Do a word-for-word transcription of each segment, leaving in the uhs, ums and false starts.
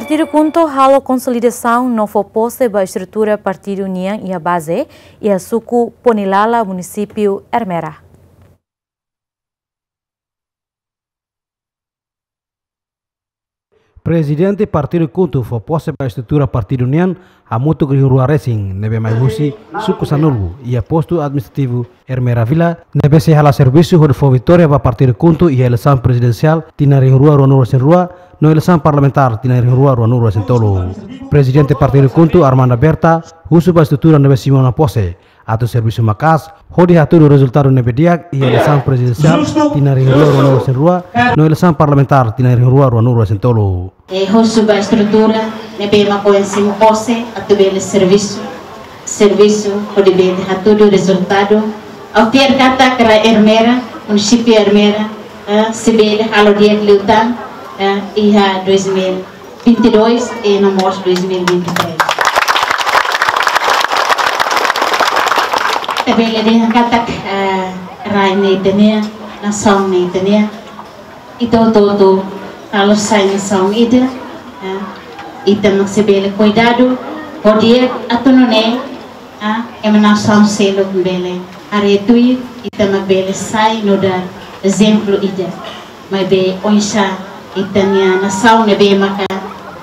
Partidu KHUNTO halo konsolidasaun no fó pose ba estrutura partidu nian iha baze, iha suku Ponilala, munisípiu Ermera. Prezidente Partidu KHUNTO fó pose ba estrutura partidu nian hamutuk rihun rua resin, ne'ebé mai husi suku sanulu, iha postu administrativu Ermera Vila, ne'ebé sei hala'o servisu hodi fó vitória ba Partidu KHUNTO iha eleisaun prezidensiál tinan rihun rua ruanulu resin rua, no eleisaun parlamentár tinan rihun rua ruanulu resin tolu. Prezidente Partidu KHUNTO, Armanda Berta, husu ba estrutura ne'ebé simu ona pose atu servisu maka'as hodi hatudu rezultadu ne'ebé di'ak iha eleisaun prezidensiál tinan rihun rua ruanulu resin rua, no eleisaun parlamentár tinan rihun rua ruanulu resin tolu. E husu ba estrutura ne'ebé mak ohin simu pose atu bele servisu, servisu hodi bele hatudu rezultadu. Ha'u fiar katak rai Ermera, munisípiu Ermera, eh, sei bele halo di'ak liután, eh, iha dois mil vinte e dois e no mós dois mil vinte e três. Ita bele dehan katak, eh, rai ne'e ita-nia, nasaun ne'e ita-nia. Ita hotu-hotu halo sai nasaun ida, eh, ita mak sei bele kuidadu, hodi atu nune'e, ah, ema nasaun seluk bele haree tuir, ita mak bele sai nu'udar ezemplu ida. Maibé oinsá ita-nia nasaun ne'ebé maka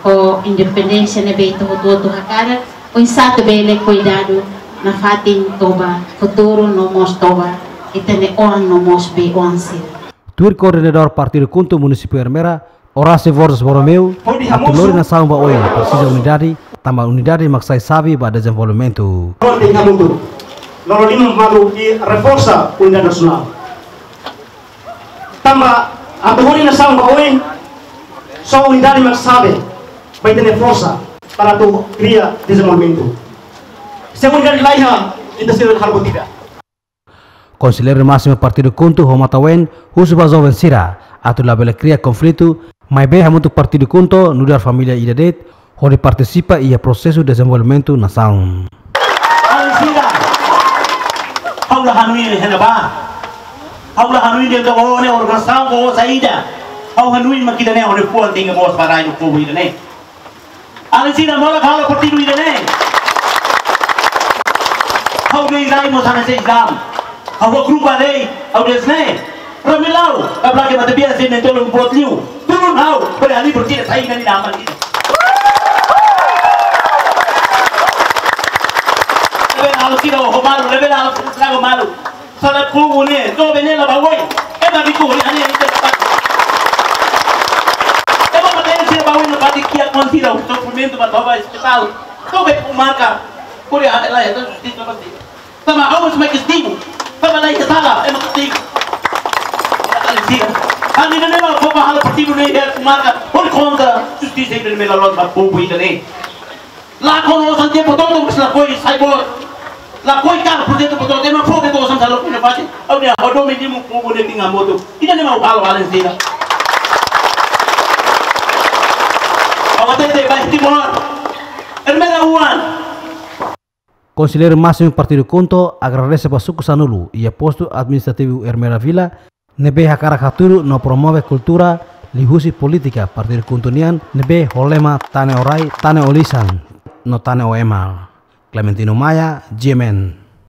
ho independénsia ne'ebé ita hotu-hotu hakarak, oinsá atu bele kuidadu nafatin toba futuru no mós toba ita-nia oan no mós bei-oan sira. Tuir koordenadór Partidu KHUNTO munisípiu Ermera, Horácio Borges Borromeu, atu lori nasaun ba oin presiza unidade, tanba unidade mak sai xave ba dezenvolvimentu. Ontem hamutuk, loroloron malu i reforsa unidade nasionál. Tanba atu lori nasaun ba oin, só unidade mak xave ba ita-nia forsa para atu kria dezenvolvimentu. Se unidade la iha, ita sira halo buat ida. Konselleiru másimu Partidu KHUNTO ho Matauen husu ba joven sira atu labele kria konflitu, maibé hamutuk Partidu KHUNTO nu'udar família ida de'it hodi partisipa iha prosesu dezenvolvimentu nasaun. Alin sira, ha'u la hanoin iha ne'ebá. Ha'u la hanoin de'it ó-nia organizasaun ka ó saida. Ha'u hanoin mak ida-ne'e hodi fó tenke boas ba rai no povu ida-ne'e. Alin sira, molok halo partidu ida-ne'e. Ha'u dehan rai mós hanesan Islam. Ha'u grupu rai, ha'u dehan ne'e. Ramilau, ka blake mata biasa ne'e tolong buat liu. Turun ha'u, pada ahli bertiga saya ini nama ini. Lebih halo sira ho malu, lebih halo sira ho malu. Sala povu ne'e, joven ne'e la ba oin. Ema riku ne'e, ane ita la ba. Ema matenek sira ba oin, la ba di kia kon sira, sofrimentu ba toba ospitál. Tobe ku marka, kuri ane la ya, tu di toba di. Sama awas mai kastigu. Sama la ya sala, ema kastigu. Ane sira. Ane ne'e mak povu halo partidu ne'e ya ku marka, hodi kontra justisa ida-ne'e mak la loos ba povu ida-ne'e. Lakon osan tempu todo, mas lakohi sai boot. Lakohi kaer projetu boot, ema fó beto osan salo kuna fati. Ha'u dehan, ha'u domin dimu povu ne'e tinga moto. Ida-ne'e mak halo alin sira. Ha'u hatete ba Timor. Ermera oan. Konselleiru másimu Partidu KHUNTO agradese ba suku sanulu iha postu administrativu Ermera Vila, ne'ebé hakarak hatudu no promove kultura liuhusi polítika Partidu KHUNTO nian ne'ebé ho lema Tane ho Rai, Tane ho Lisan, no Tane ho Ema. Clementino Maia, G M N.